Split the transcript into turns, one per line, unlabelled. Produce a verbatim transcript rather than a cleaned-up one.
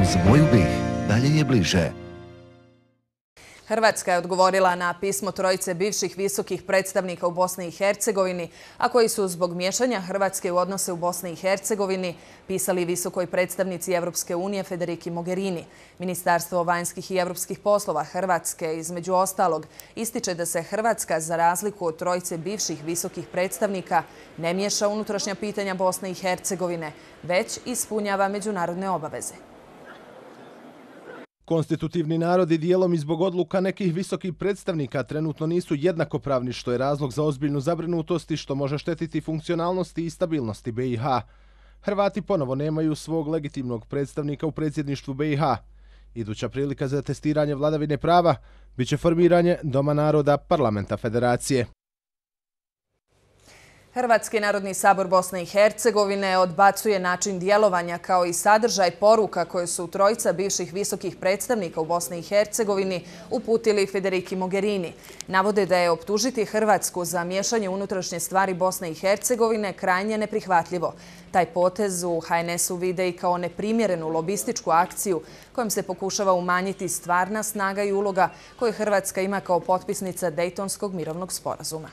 Uz moju bih, dalje je bliže.
Hrvatska je odgovorila na pismo trojice bivših visokih predstavnika u Bosni i Hercegovini, a koji su zbog miješanja Hrvatske u odnose u Bosni i Hercegovini pisali visokoj predstavnici Evropske unije Federiki Mogherini. Ministarstvo vanjskih i evropskih poslova Hrvatske, između ostalog, ističe da se Hrvatska, za razliku od trojice bivših visokih predstavnika, ne miješa unutrašnja pitanja Bosne i Hercegovine, već ispunjava međunarodne obaveze.
Konstitutivni narodi dijelom i zbog odluka nekih visokih predstavnika trenutno nisu jednakopravni, što je razlog za ozbiljnu zabrinutost i što može štetiti funkcionalnosti i stabilnosti B i H. Hrvati ponovo nemaju svog legitimnog predstavnika u predsjedništvu B i H. Iduća prilika za testiranje vladavine prava biće formiranje Doma naroda Parlamenta Federacije.
Hrvatski narodni sabor Bosne i Hercegovine odbacuje način djelovanja kao i sadržaj poruka koje su trojica bivših visokih predstavnika u Bosni i Hercegovini uputili Federiki Mogherini. Navode da je optužiti Hrvatsku za miješanje unutrašnje stvari Bosne i Hercegovine krajnje neprihvatljivo. Taj potez u H N S-u vide i kao neprimjerenu lobističku akciju kojom se pokušava umanjiti stvarna snaga i uloga koju Hrvatska ima kao potpisnica Dejtonskog mirovnog sporazuma.